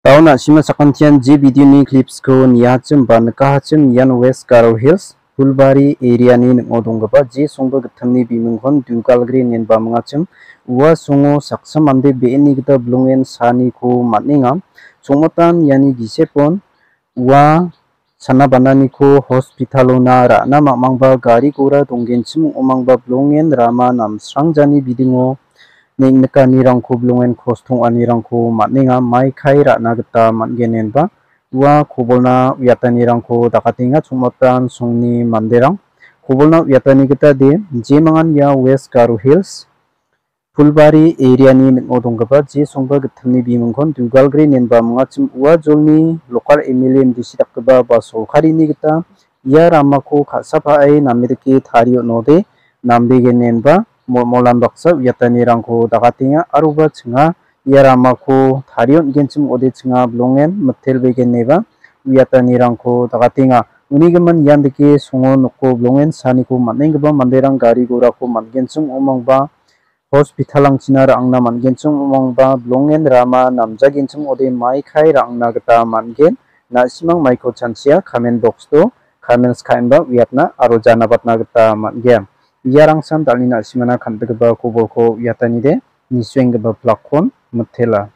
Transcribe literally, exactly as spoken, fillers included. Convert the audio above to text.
Taon na·sima sakantian je video-ni clips-ko niahachim ba nikahachim ian West Garo Hills, Phulbari area-ni ning·o donggipa je songba gittamni bimingkon Dugalgre inenba mingachim. Ua songo saksa mande be·eni gita bilongen saaniko man·enga. Chongmatan iani gisepon ua sana bananiko hospital-ona ra·na mamangba gari gora donggenchim ong·omangba bilongen rama namsrangjani bidingo neng·nikanirangko bilongen kros tong·anirangko man·enga, maikai ra·na gita man·gen enba ua kobolna uiatanirangko dakatenga. Chongmatan songni manderang kobolna uiatani gita de, jemangan ia West Garo Hills, Phulbari area-ni ning·o donggipa je songba gittamni bimingkon Dugalgre inenba mingachim. Ua jolni local M L A, M D C dakgipa ba sorkarini gita ia ramako ka·sapae name dake tarie on·ode nambegenenba molmolan baksa uiatanirangko dakatenga, aroba chinga ia ramako tarie on·genchim ong·ode chinga bilongen mitelbegeneba uiatanirangko dakatenga. Unigimin ian dake songo noko bilongen saaniko man·enggipa manderang gari gorako man·genchim ong·omangba hospital-angchina ra·angna man·genchim ong·omangba bilongen rama namjagenchim ong·ode maikai ra·angna gita man·gen. Na·simang maiko chanchia comment box-o comments ka·enba uiatna aro janabatna gita man·gen. Iarangsan dal·ni na·simana kan·gipa kobolko uiatanide nisuenggipa plakkon mitela.